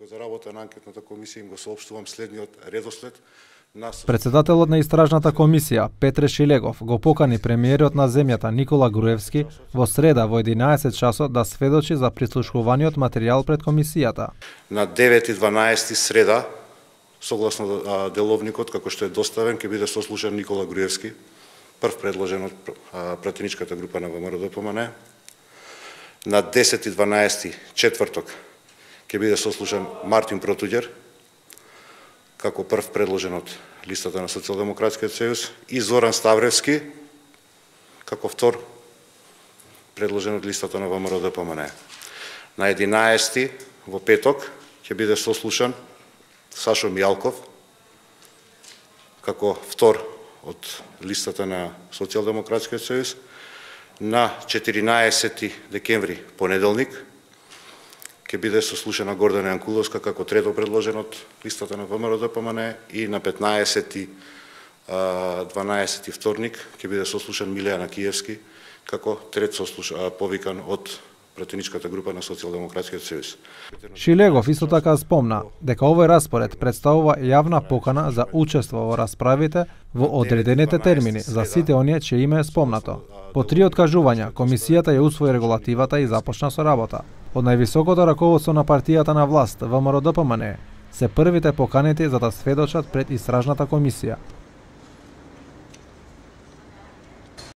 Како за работа на анкетната комисија им го соопштувам следниот редослед. Председателот на истражната комисија Петре Шилегов го покани премиерот на земјата Никола Груевски во среда во 11 часот да сведочи за прислушуваниот материјал пред комисијата. На 9:12 среда, согласно деловникот како што е доставен, ќе биде сослушан Никола Груевски, прв предложен од пратеничката група на ВМРО-ДПМНЕ. На 10:12 четврток ќе биде сослушан Мартин Протуѓер, како прв предложен од листата на Социјалдемократскиот сојуз, и Зоран Ставревски, како втор предложен од листата на ВМРО-ДПМНЕ. На 11 во петок ќе биде сослушан Сашо Мијалков, како втор од листата на Социјалдемократскиот сојуз. На 14 декември, понеделник, ќе биде сослушана Гордана Јанкуловска како трето предложен од листата на ВМРО-ДПМНЕ, и на 15-12 вторник ќе биде сослушан Милејан Акиевски како трет повикан од пратеничката група на Социјалдемократскиот сојуз. Шилегов исто така спомна дека овој распоред представува јавна покана за учество во расправите во одредените термини за сите оние чие име е спомнато. По 3 откажувања, комисијата ја усвои регулативата и започна со работа. Од највисокото раководство на партијата на власт, ВМРО-ДПМНЕ, се првите поканети за да сведочат пред истражната комисија.